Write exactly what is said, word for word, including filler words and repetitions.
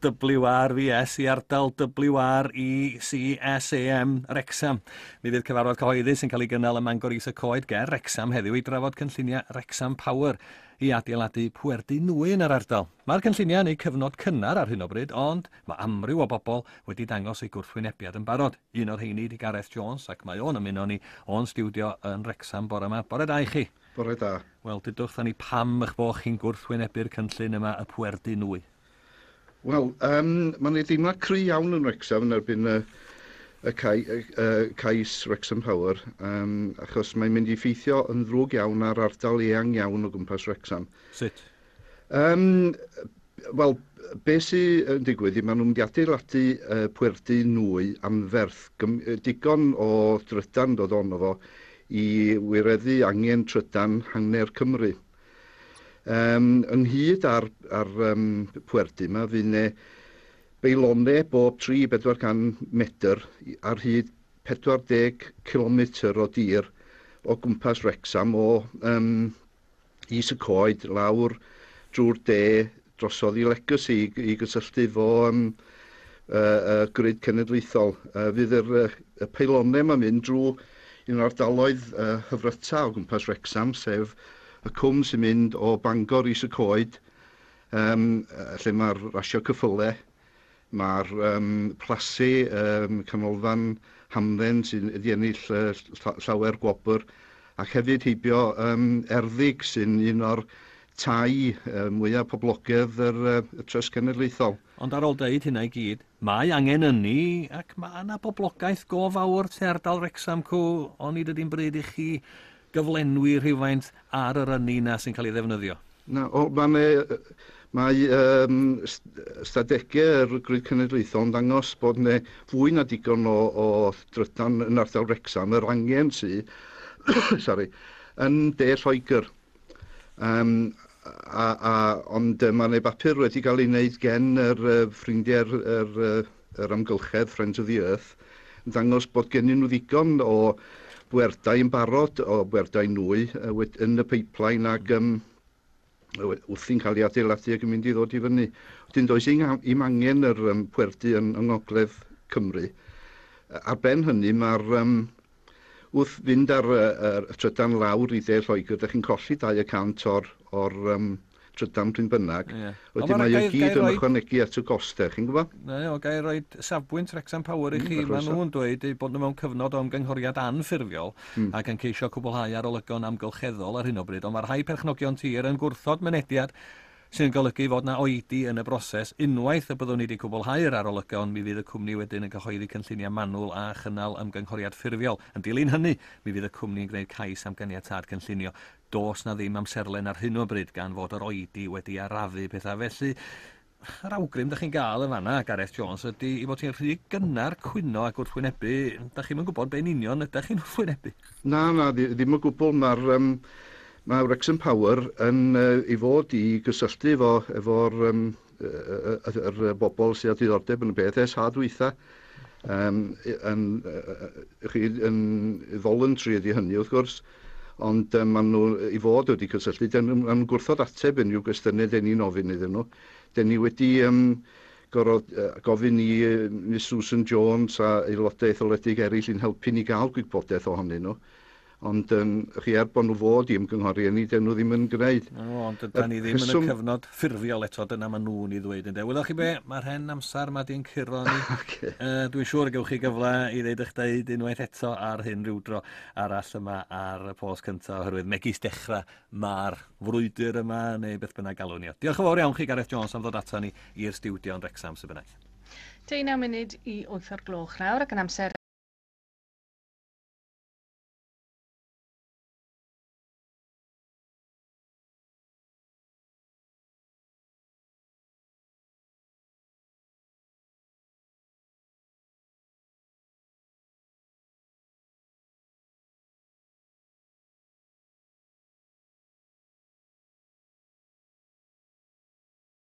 W R V S i ardal W R E C S A M Wrecsam. Mi fydd cyfarfod cyhoeddus yn cael ei gynnal ym Mangor Is y Coed ger Wrecsam heddiw i drafod cynlluniau Wrecsam Power i adeiladu pwerdy nwy yn yr ardal. Mae'r cynlluniau yn eu cyfnod cynnar ar hyn o bryd, ond mae amryw o bobl wedi dangos eu gwrthwynebiad yn barod. Un o'r rheini 'di Gareth Jones, ac mae o'n ymuno ni o'n stiwdio yn Wrecsam bore yma. Bore da i chi. Bore da. Wel, dudwch ni pam eich bod chi'n gwrthwynebu'r cynllun yma, y pwerdy nwy? Wel, um, mae'n ei deimlad cry iawn yn Wrecsam yn erbyn y, y, cai, y, y cais Wrexham Power, um, achos mae'n mynd i effeithio yn ddrwg iawn ar ardal eang iawn o gwmpas Wrecsam. Sut? Um, Wel, be sy'n yn digwydd, maen nhw'n mynd i adeiladu uh, pwerdy nwy anferth, digon o drydan dod ono fo i wireddu angen trydan hanner Cymru. Um, ynghyd ar, ar um, pwerdy yma, fydd 'ne beilonau bob tri bedwar can metr ar hyd pedwar deg kilometr o dir o gwmpas Wrecsam o um, Is y Coed lawr drwy'r de drosodd i Legacy i, i gysylltu fo um, uh, uh, grid cenedlaethol. Uh, fydd yr, uh, y peilonau yma'n mynd drwy un o'r ardaloedd uh, hyfryta o gwmpas Wrecsam, sef y cwm sy'n mynd o Bangor Is y Coed, um, lle mae'r rasio cyffyle, mae'r um, plasu, um, canolfan hamdden sy'n wedi ennill uh, llawer gwobr, ac hefyd heibio um, Erddig sy'n un o'r tai uh, mwyaf poblogaidd yr, uh, y Trust Cenedlaethol. Ond ar ôl deud hynna i gyd, mae angen ynni ac mae yna boblogaeth go fawr tu ardal Wrecsam cw, onid ydy'n bryd i chi gyflenwi rhywfaint ar yr ynni na sy'n cael ei ddefnyddio? Na, o, mae, mae um, stadegau yr Grid Cenedlaethol yn dangos bod yna fwy na digon o, o drydan yn ardal Wrecsam, yr angen sy, sorry, yn de Lloegr. Um, a, a, ond mae yna bapur wedi cael ei wneud gen yr uh, ffrindiau'r yr, yr, yr amgylchedd, Friends of the Earth, yn dangos bod gennyn nhw ddigon o bwerdau yn barod, o bwerdau nwy yn y pipeline ac um, wrthi'n cael ei adeiladu ac yn mynd i ddod i fyny. Wedyn does i'm angen yr um, pwerdy yn, yng Ngogledd Cymru. Ar ben hynny mae'r um, wrth fynd ar y, y trydan lawr i dde Lloegr, dych chi'n colli dau y cant o'r, or, um, trydan pryn bynnag. Yeah. Wedyn mae o gyd yn ychwanegu at y gostau, chi'n gwybod? Ne, o gai roi safbwynt Wrexham Power i chi. Mm, Maen nhw'n dweud eu bod nhw mewn cyfnod o ymgynghoriad anffurfiol mm. ac yn ceisio cwblhau arolygon amgylcheddol ar hyn o bryd, ond mae rhai perchnogion tir yn gwrthod mynediad sy'n golygu fod na oedi yn y broses. Unwaith y byddwn ni wedi cwblhau'r arolygon, mi fydd y cwmni wedyn yn cyhoeddi cynlluniau manwl a chynnal ymgynghoriad ffurfiol. Yn dilyn hynny, mi fydd y cwmni yn gwneud cais am ganiatâd cynllunio. Does na ddim amserlen ar hyn o bryd gan fod yr oedi wedi arafu pethau. Felly, yr awgrym da chi'n gael yn fanna, Gareth Jones, ydy i fod chi'n rhy gynnar cwyno ac wrthwynebu. Da chi'm yn gwybod be'n union ydych chi'n wrthwynebu. Na, na, ddim o gwbl. Mae'r um, mae Wrexham Power yn uh, i fod i gysylltu efo, efo'r um, yr, yr bobl sydd â diddordeb yn y beth ers ha dwytha. Um, yn, uh, chi, yn voluntary ydy hynny wrth gwrs, ond um, maen nhw i fod wedi cysylltu, dyn nhw'n gwrthod ateb unrhyw gwestiynau dyn ni'n ofyn iddyn nhw. Dyn ni wedi um, gorfod, uh, gofyn i uh, Miss Susan Jones a aelodau etholedig eraill i'n helpu ni gael gwybodaeth ohonyn nhw. Ond um, chi er bod nhw fod i ymgynghori ni, dyn nhw ddim yn gwneud. No, ond dydan ni ddim yn y cyfnod ffurfiol eto, dyna maen nhw'n ei ddweud. Ynde. Wyddoch chi be, mae'r hen amser ma di'n curo ni. Okay. Uh, dwi'n siŵr y gewch chi gyfle i ddeud eich deud unwaith eto ar hyn rhywdro arall yma ar y Post Cyntaf, oherwydd megis dechrau mae'r frwydr yma, neu beth bynnag galwn ni. Diolch yn fawr iawn chi, Gareth Jones, am ddod ato ni i'r stiwdio yn Wrecsam, sy'n bynnag. Deunaw munud i wyth o'r gloch nawr ac yn amser